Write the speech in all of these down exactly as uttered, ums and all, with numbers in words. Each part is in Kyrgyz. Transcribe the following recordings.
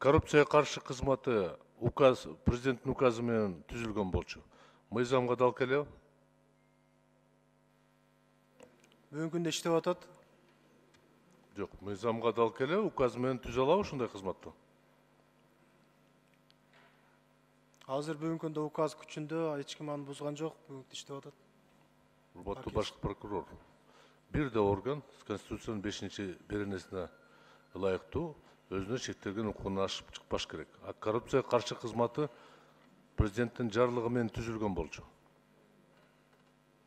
коррупцияга каршы кызматы указ, президенттин указы менен түзүлгөн болчу. Мыйзамга дал келеби? Бүгүнкү күндө иштеп атат. Жок, мыйзамга дал келеби, указ менен түзө алабы ушундай кызматты? Азыр бүгүнкү күндө указ күчүндө, эч ким аны бузган жок, бүгүнкү иштеп атат. Урматтуу башкы прокурор, бир да орган Конституциянын бешинчи беренесине ылайыктуу өзүнө шектелген укугун ашып чыкпаш керек. А коррупцияга каршы кызматы президенттин жарлыгы менен түзүлгөн болчу.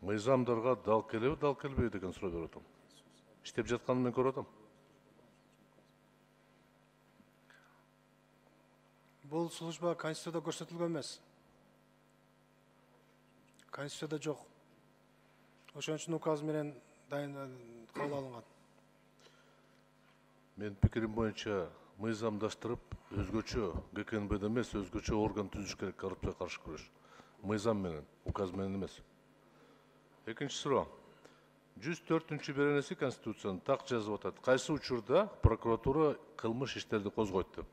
Мыйзамдарга дал келеби, дал келбейби деген суроо берип атам. Иштеп жатканын мен көрүп атам. Бул служба Конституцияда көрсөтүлгөн эмес. Конституцияда жок. Ошон үчүн указ менен дайын кабыл алынган. Мен пикирим боюнча мыйзамдаштырып, өзгөчө Г К Н Б Д эмес, өзгөчө орган түзүш керек коррупцияга каршы күрөш. Мыйзам менен, указ менен эмес. Экинчи суроо. жүз төртүнчү беренеси Конституциянын так жазып атат. Кайсы учурда прокуратура кылмыш иштерди козгойт деп.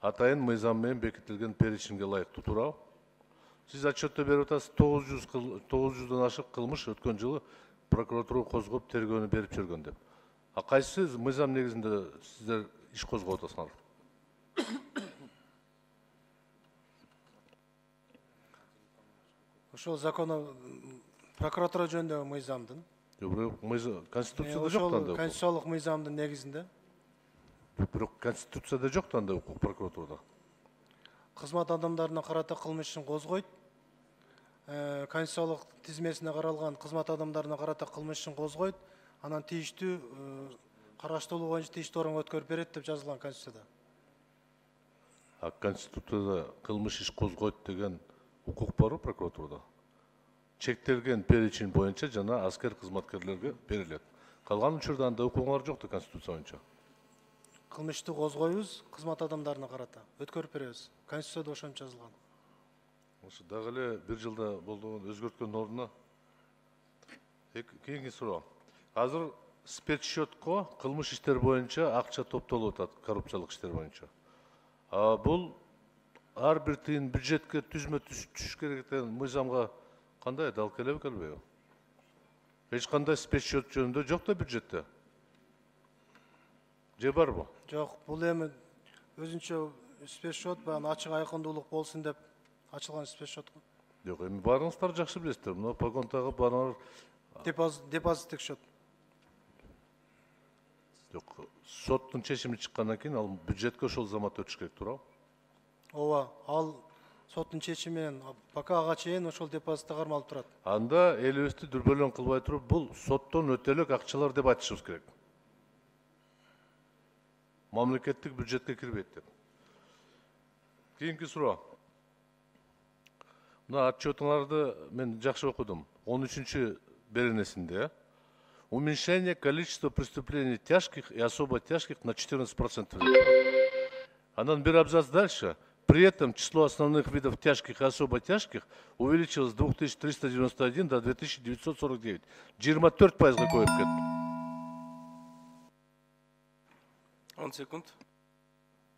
Атайын мыйзам менен бекитилген перечинге ылайыктуу, туурабы? Сиз отчетто берип атасыз, тогуз жүздөн ашык кылмыш өткөн жылы прокуратура козгоп, тергөөнү берип жүргөн деп. А кайсы мыйзам негизинде сиздер иш козгоп атасыңар? Ошол закону прокуратура жөнүндөгү мыйзамдын. Конституцияда жок да. Конституциялык мыйзамдын негизинде. Бирок Конституцияда жок да укук прокуратурада. Кызмат адамдарына карата кылмыш ишин козгойт. Конституциялык тизмесине каралган кызмат адамдарына карата кылмыш ишин козгойт. Анан тийиштүү караштуулугу боюнча тийиштүү органга өткөрүп берет деп жазылган Конституцияда. А Конституцияда кылмыш иш козгойт деген укук барбы прокуратурада? Чектелген перечень боюнча жана аскер кызматкерлерге берилет. Калган учурда анда укугуңар жок да Конституция боюнча. Кылмышты козгойбуз кызмат адамдарына карата, өткөрүп беребиз. Конституцияда ошончо жазылган. Ошо дагы эле бир жылда болгон өзгөрткөн ордуна кийинки суроо. Азыр спецсчетко кылмыш иштер боюнча акча топтолуп атат, коррупциялык иштер боюнча. А бул ар бир тыйын бюджетке түзмө түшүш керек деген мыйзамга кандай дал келеби, келбейби? Эч кандай спецсчет жөнүндө жок да бюджетте. Же барбы? Жок, бул эми өзүнчө спецсчет, баягы ачык айкындуулук болсун деп ачылган спецсчет го. Жок, эми баарыңыздар жакшы билесиздер. Мына погондагы баарыңар депозиттик счет. Жок, соттун чечими чыккандан кийин ал бюджетке ошол замат өтүш керек, туурабы? Ооба, ал соттун чечими менен пока ага чейин ошол депозитте кармалып турат. Анда элибизди дүрбөлөң кылбай туруп, бул соттон өтө элек акчалар деп айтышыбыз керек. Мамлекеттик бюджетке кирбейт деп. Кийинки суроо. Мына отчетуңарды мен жакшы окудум. он үчүнчү беренесинде уменьшение количества преступлений тяжких и особо тяжких на четырнадцать процентов. Анан бир абзац дальше. При этом число основных видов тяжких и особо тяжких увеличилось с двух тысяч триста девяноста один до две тысячи девятьсот сорок девять. жыйырма төрт пайызга көбөйүп кетти. он секунд.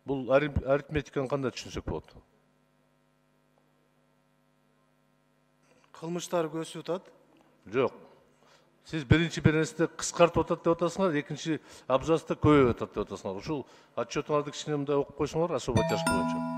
Бул арифметиканы кандай түшүнсөк болот? Кылмыштар өсүп атат. Жок. Сиз биринчи беренесинде кыскартып атат деп атасыңар, экинчи абзацта көбөйүп атат деп атасыңар. Ушул отчетуңарды кичине мындай окуп койсоңор, особо тяжкий боюнча.